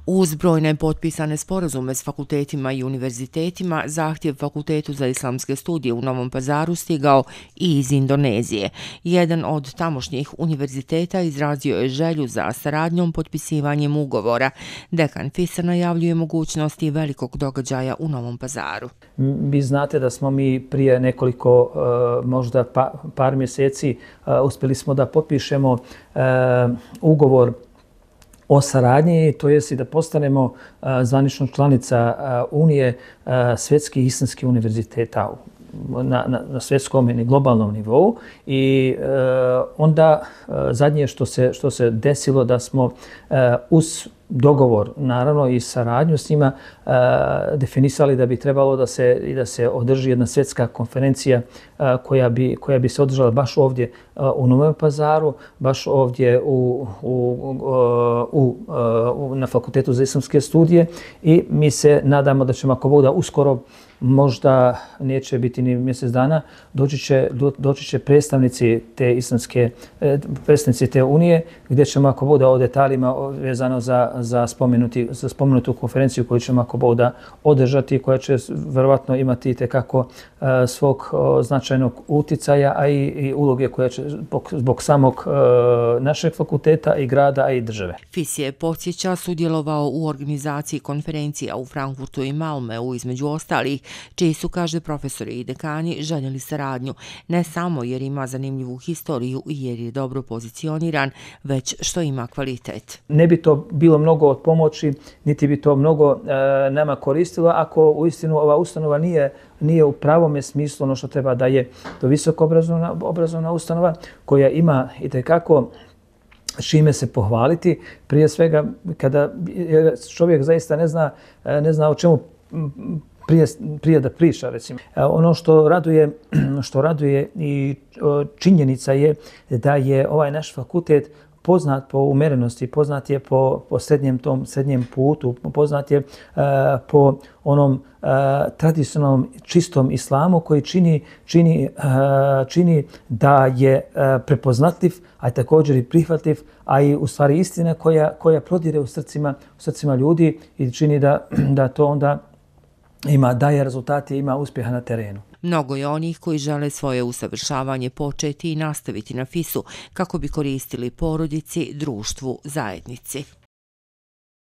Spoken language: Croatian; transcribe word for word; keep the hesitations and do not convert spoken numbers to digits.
Uz brojne potpisane sporazume s fakultetima i univerzitetima, zahtjev Fakultetu za islamske studije u Novom Pazaru stigao i iz Indonezije. Jedan od tamošnjih univerziteta izrazio je želju za saradnjom potpisivanjem ugovora. Dekan FIS-a najavljuje mogućnosti velikog događaja u Novom Pazaru. Vi znate da smo mi prije nekoliko, možda par mjeseci, uspjeli smo da potpišemo ugovor o saradnji, to jest i da postanemo zvanična članica Unije svjetskih islamskih univerziteta na, na, na svjetskom i globalnom nivou. I e, onda e, zadnje što se, što se desilo da smo e, uz dogovor, naravno i saradnju s njima, e, definisali da bi trebalo da se, i da se održi jedna svjetska konferencija e, koja, bi, koja bi se održala baš ovdje e, u Novom Pazaru, baš ovdje u, u, u, u, na Fakultetu za islamske studije, i mi se nadamo da ćemo, ako Bog da, uskoro, možda neće biti ni mjesec dana, doći će, do, doći će predstavnici te islamske, predstavnici te unije, gdje ćemo, ako Bog da, o detaljima vezano za, za, spomenuti, za spomenutu konferenciju koju ćemo, ako Bog da, održati, koja će vjerovatno imati itekako uh, svog uh, značajnog uticaja, a i, i uloge koja će zbog, zbog samog uh, našeg fakulteta i grada, a i države. FIS je, podsjeća, sudjelovao u organizaciji konferencija u Frankfurtu i Malmeu, između ostalih, čiji su, kaže, profesori i dekani željeli saradnju, ne samo jer ima zanimljivu historiju i jer je dobro pozicioniran, već što ima kvalitet. Ne bi to bilo mnogo od pomoći, niti bi to mnogo e, nama koristilo ako uistinu ova ustanova nije, nije u pravome smislu ono što treba da je to visoko obrazovna, obrazovna ustanova koja ima itekako čime se pohvaliti. Prije svega, kada čovjek zaista ne zna, ne zna o čemu Prije, prije da priča, recimo. Ono što raduje, što raduje i činjenica je da je ovaj naš fakultet poznat po umerenosti, poznat je po, po srednjem, tom, srednjem putu, poznat je uh, po onom uh, tradicionalnom čistom islamu koji čini, čini, uh, čini da je uh, prepoznatljiv, a također i prihvatljiv, a i u stvari istina koja, koja prodire u srcima, u srcima ljudi i čini da, da to onda ima, daje rezultate i ima uspjeha na terenu. Mnogo je onih koji žele svoje usavršavanje početi i nastaviti na FIS-u kako bi koristili porodici, društvu, zajednici.